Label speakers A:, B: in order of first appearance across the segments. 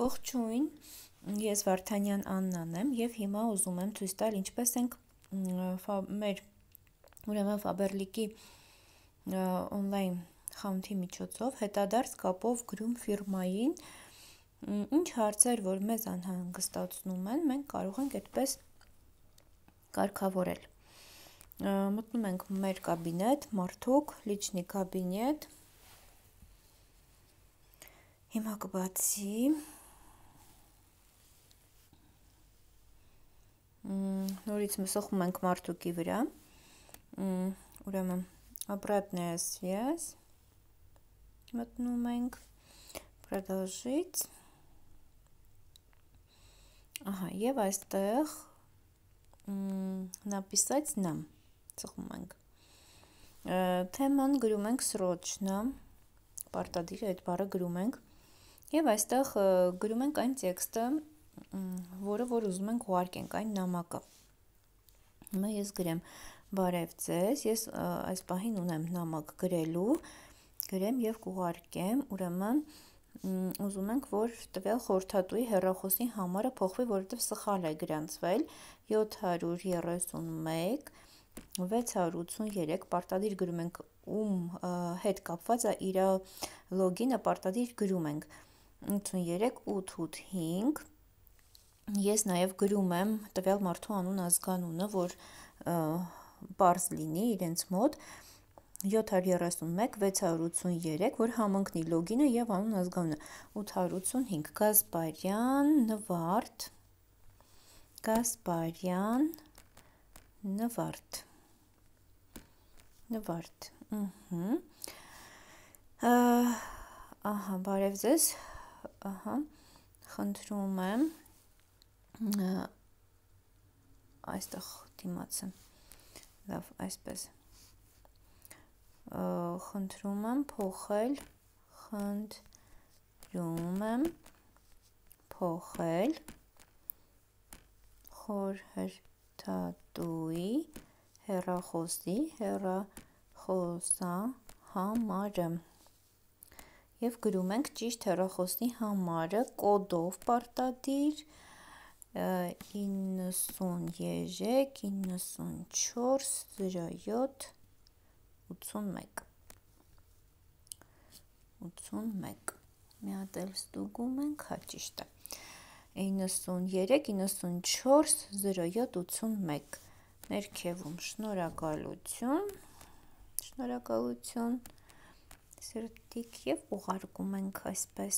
A: Ողջույն, ես Վարդանյան Աննան եմ և հիմա ուզում եմ ցույց տալ ինչպես ենք մեր Faberlic-ի on-line խանութի միջոցով հետադարձ կապով գրում ֆիրմային ինչ հարցեր, որ մեզ անհանգստացնում են, մենք կարող ենք այդպես կարգավորել։ Մտնում ենք մեր կաբինետ, մարդուկ, լիչնի կաբինետ, հիմա կբացի, նորից սխում ենք մարդուկի վրա, ուրեմն обратная связь, մտնում ենք, продолжить, և այստեղ написать нам, սխում ենք, թեման գրում ենք սրոչնա, պարտադիր այդ բառը գրում ենք, և այստեղ գրում ենք այն տեքստը, որը որ ուզում ենք ուղարկենք, այն նամակը, հիմա ես գրեմ բարև ձեզ, ես այս պահին ունեմ նամակ գրելու, գրեմ և կուղարկեմ, ուրեմն ուզում ենք, որ տվյալ խորհրդատուի հեռախոսի համարը փոխվի, որովհետև սխալ է գրանցվել 731 683, պարտադիր գրում ենք ում հետ կապված է իր լոգինը, պարտադիր գրում ենք 83 885, ես նաև գրում եմ տվյալ մարդու անուն ազգանունը, որ պարզ լինի իրենց մոտ 731 683, որ համընկնի լոգինը և անուն ազգանունը 885, Գասպարյան Նվարդ, բարև ձեզ, խնդրում եմ, այստեղ դիմացը, լավ, այսպես, խնդրում եմ փոխել խորհրդատուի հեռախոսահամարը և գրում ենք ճիշտ հեռախոսի համարը կոդով պարտադիր 93 94 07 81, մի հատ էլ ստուգում ենք, ճիշտ է, 93 94 07 81, ներքևում շնորհակալություն, սրտիկ և ուղարկում ենք այսպես,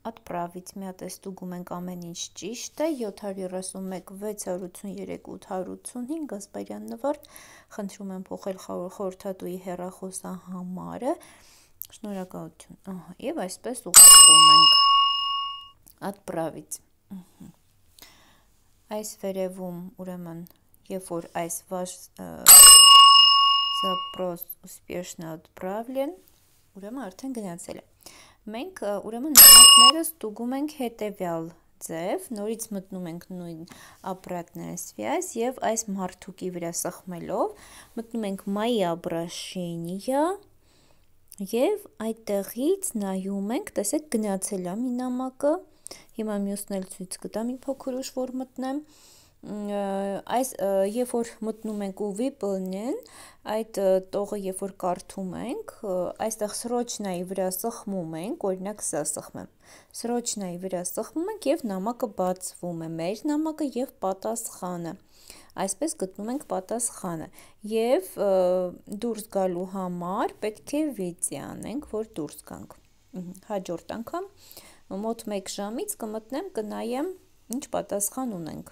A: отправить, մի հատ ստուգում ենք ամեն ինչ ճիշտ է, 731 683 885, Գասպարյան Նվարդ, խնդրում եմ փոխել խորհրդատուի հեռախոսահամարը, շնորհակալություն, և այսպես ուղարկում ենք, отправить, այս վերևում, ուրեմն, երբ որ այս վаш запрос успешно отправлен, ուրեմն արդեն գնացել է, մենք ուրեմն նամակները ստուգում ենք հետևյալ ձև, նորից մտնում ենք նույն обратная связь և այս մարդուկի վրա սխմելով, մտնում ենք мои обращения և այդտեղից նայում ենք, տեսեք գնացել է մի նամակը, հիմա մյուսն էլ ցույց կտամ մի փոքր ուշ, որ մտնեմ, երբ որ մտնում ենք ու выполнен, այդ տողը երբ որ կարդում ենք, այստեղ սրոչնայի վրա սխմում ենք, օրինակ սա սխմեմ, սրոչնայի վրա սխմում ենք և նամակը բացվում է, մեր նամակը և պատասխանը, այսպես գտնում ենք պատասխանը և դուրս գալու համար պետք է վեցի անենք, որ դուրս գանք, հաջորդ անգամ մոտ 1 ժամից կմտնեմ, կնայեմ ինչ պատասխան ունենք,